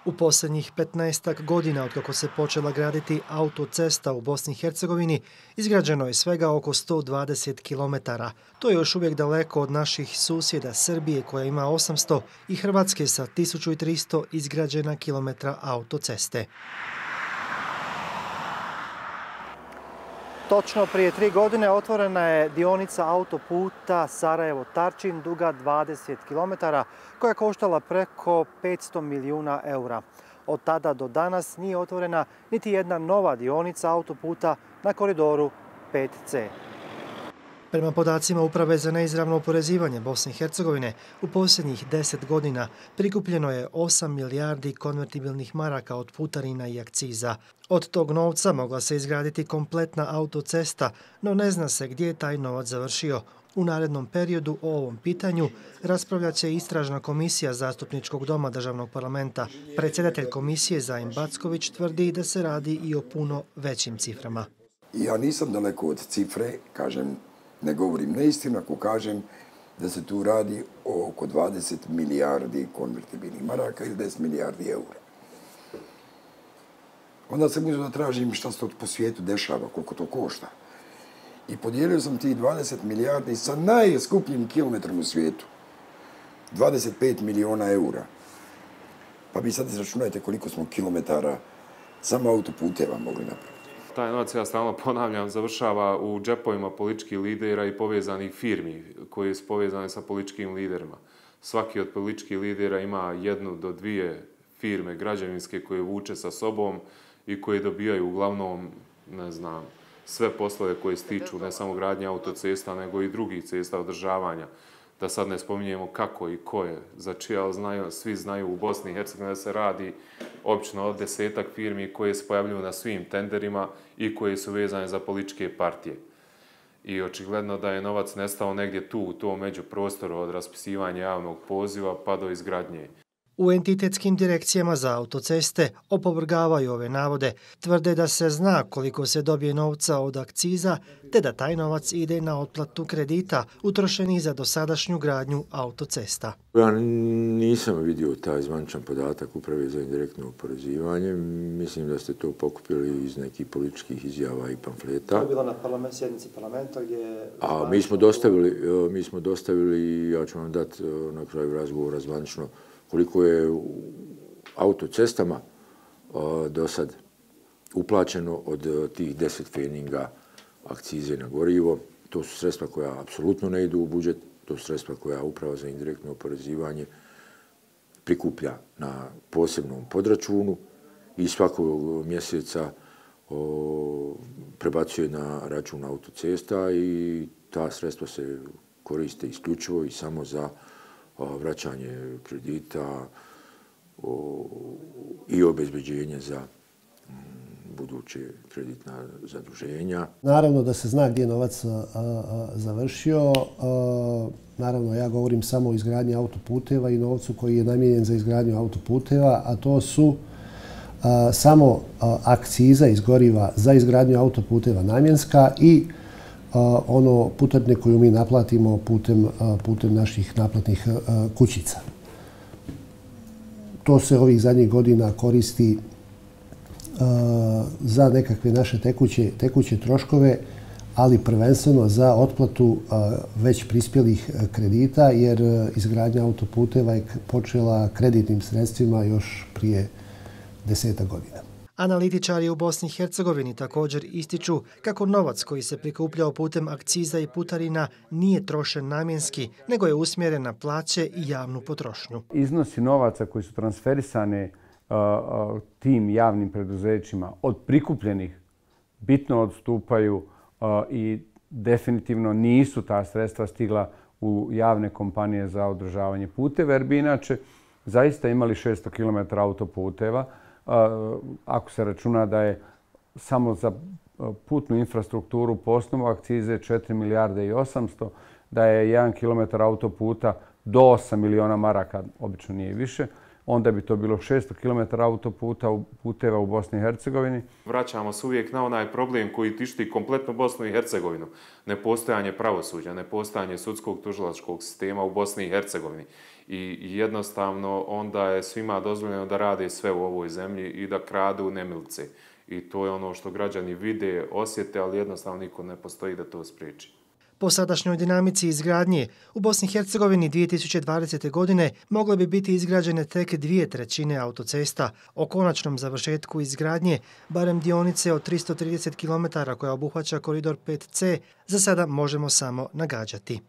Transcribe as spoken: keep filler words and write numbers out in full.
U posljednjih petnaestak godina otkako se počela graditi autocesta u Bosni i Hercegovini, izgrađeno je svega oko sto dvadeset kilometara. To je još uvijek daleko od naših susjeda Srbije koja ima osamsto i Hrvatske sa tisuću tristo izgrađena kilometra autoceste. Točno prije tri godine otvorena je dionica autoputa Sarajevo-Tarčin duga dvadeset kilometara koja je koštala preko petsto milijuna eura. Od tada do danas nije otvorena niti jedna nova dionica autoputa na koridoru pet ce. Prema podacima Uprave za neizravno oporezivanje Bosne i Hercegovine, u posljednjih deset godina prikupljeno je osam milijardi konvertibilnih maraka od putarina i akciza. Od tog novca mogla se izgraditi kompletna autocesta, no ne zna se gdje je taj novac završio. U narednom periodu o ovom pitanju raspravljat će Istražna komisija Zastupničkog doma Državnog parlamenta. Predsjedatelj komisije Zajim Backović tvrdi da se radi i o puno većim ciframa. Ja nisam daleko od cifre, kažem, ne govorim neistinu ako kažem da se tu radi o oko dvadeset milijardi konvertibilnih maraka ili deset milijardi eura. Onda sam uzeo da tražim šta se to po svijetu dešava, koliko to košta. I podijelio sam tih dvadeset milijardi sa najskupljim kilometrom u svijetu. dvadeset pet miliona eura. Pa vi sad izračunajte koliko smo kilometara samo autoputeva mogli napraviti. Taj novac, ja stalno ponavljam, završava u džepovima političkih lidera i povezanih firmi koji su povezane sa političkim liderima. Svaki od političkih lidera ima jednu do dvije firme građevinske koje vuče sa sobom i koje dobijaju uglavnom, ne znam, sve poslove koje stiču ne samo gradnje autocesta, nego i drugih cesta održavanja. Da sad ne spominjemo kako i ko je, za čija znaju, svi znaju u Bosni i Hercegovini da se radi obično od desetak firmi koje se pojavljuju na svim tenderima i koje su vezane za političke partije. I očigledno da je novac nestao negdje tu, u tom međuprostoru od raspisivanja javnog poziva pa do izgradnje. U entitetskim direkcijama za autoceste opovrgavaju ove navode, tvrde da se zna koliko se dobije novca od akciza, te da taj novac ide na otplatu kredita utrošenih za dosadašnju gradnju autocesta. Ja nisam vidio taj zvaničan podatak Uprave za indirektno oporezivanje. Mislim da ste to pokupili iz nekih političkih izjava i pamfleta. To je bilo na parlament, sjednici parlamenta gdje... A mi smo dostavili, mi smo dostavili, ja ću vam dati na kraju razgovora zvanično, koliko je u autocestama do sad uplaćeno od tih deset feninga akcize na gorivo. To su sredstva koja apsolutno ne idu u budžet, to su sredstva koja Uprava za indirektno oporezivanje prikuplja na posebnom podračunu i svakog mjeseca prebacuje na račun autocesta i ta sredstva se koriste isključivo i samo za vraćanje kredita i obezbeđenje za buduće kreditna zaduženja. Naravno da se zna gdje je novac završio. Naravno, ja govorim samo o izgradnji autoputeva i novcu koji je namijenjen za izgradnju autoputeva, a to su samo akciza iz goriva za izgradnju autoputeva namjenska i ono putarine koju mi naplatimo putem, putem naših naplatnih kućica. To se ovih zadnjih godina koristi za nekakve naše tekuće, tekuće troškove, ali prvenstveno za otplatu već prispjelih kredita, jer izgradnja autoputeva je počela kreditnim sredstvima još prije desetak godina. Analitičari u Bosni i Hercegovini također ističu kako novac koji se prikupljao putem akciza i putarina nije trošen namjenski, nego je usmjeren na plaće i javnu potrošnju. Iznosi novaca koji su transferisane uh, uh, tim javnim preduzećima od prikupljenih bitno odstupaju uh, i definitivno nisu ta sredstva stigla u javne kompanije za održavanje puteva, jer bi inače zaista imali šesto kilometara autoputeva. Ako se računa da je samo za putnu infrastrukturu po osnovu akcize četiri milijarde i osamsto, da je jedan kilometar autoputa do osam miliona maraka, obično nije više, onda bi to bilo šesto kilometara autoputa puteva u Bosni i Hercegovini. Vraćamo se uvijek na onaj problem koji tišti kompletno Bosnu i Hercegovinu. Nepostojanje pravosuđa, nepostojanje sudskog tužilačkog sistema u Bosni i Hercegovini. I jednostavno onda je svima dozvoljeno da rade sve u ovoj zemlji i da kradu nemilce. I to je ono što građani vide, osjete, ali jednostavno niko ne postoji da to spriječi. Po sadašnjoj dinamici izgradnje, u Bosni i Hercegovini dvije tisuće dvadesete. godine mogle bi biti izgrađene tek dvije trećine autocesta. O konačnom završetku izgradnje, barem dionice od tristo trideset kilometara koja obuhvaća koridor pet ce, za sada možemo samo nagađati.